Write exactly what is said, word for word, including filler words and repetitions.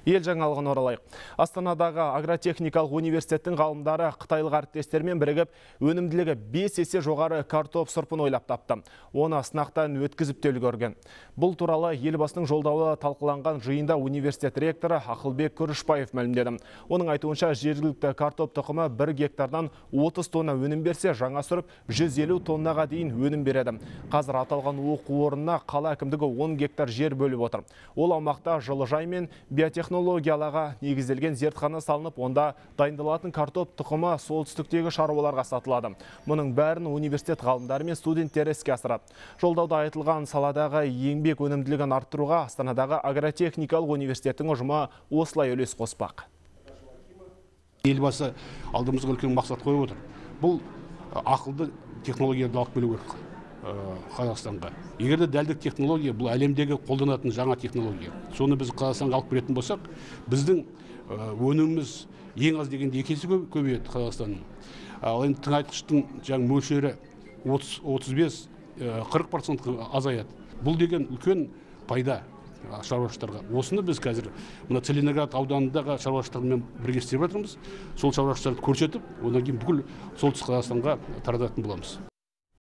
Ел жаңалығын оралайық. Астанадағы агротехникалық университеттің ғалымдары қытайлық әріптестермен бірігіп, өнімділігі бес есе жоғары картоп сұрпын ойлап тапты. Оны сынақтан өткізіп те үлгерген. Бұл туралы елбасының жолдауы талқыланған жиында университет ректоры Ақылбек Күрішбаев мәлімдеді. Оның айтуынша, жергілікті картоп тұқымы бір гектардан отыз тонна өнім берсе, жаңа сұрып жүз елу тоннаға дейін өнім береді. Қазір аталған оқу орнына қала әкімдігі он гектар жер бөліп отыр. Ол аумақта жылыжай мен биотехнологияларға негізделген зертхана салынып, онда дайындалатын картоп тұқымы солтүстіктегі шаруаларға сатылады. Мұның бәрін университет ғалымдары мен студенттері іске асырады. Жолдауда айтылған саладағы еңбек өнімділігін арттыруға Астанадағы агротехникалық университеттің ұжымы осылай үлес қоспақ. Елбасы алдымызға үлкен мақсат қойып отыр. Бұл ақылды технологияны алып келу керек Қазақстанға. Егер де дәлдік технология, бұл әлемдегі қолданатын жаңа технология. Соны біз Қазақстанға алып келетін болсақ, біздің өніміміз ең аз дегенде екі есе көбейеді Қазақстанның. Ал енді тыңайтқыштың жаңа мөлшері отыз бес қырық процентке азаяды. Бұл деген үлкен пайда шаруашылықтарға. Осыны біз қазір мына Целиноград ауданындағы шаруашылықтармен бірге істеп жатырмыз. Сол шаруашылықтарды көрсетіп, одан кейін бүкіл солтүстік Қазақстанға тарататын боламыз.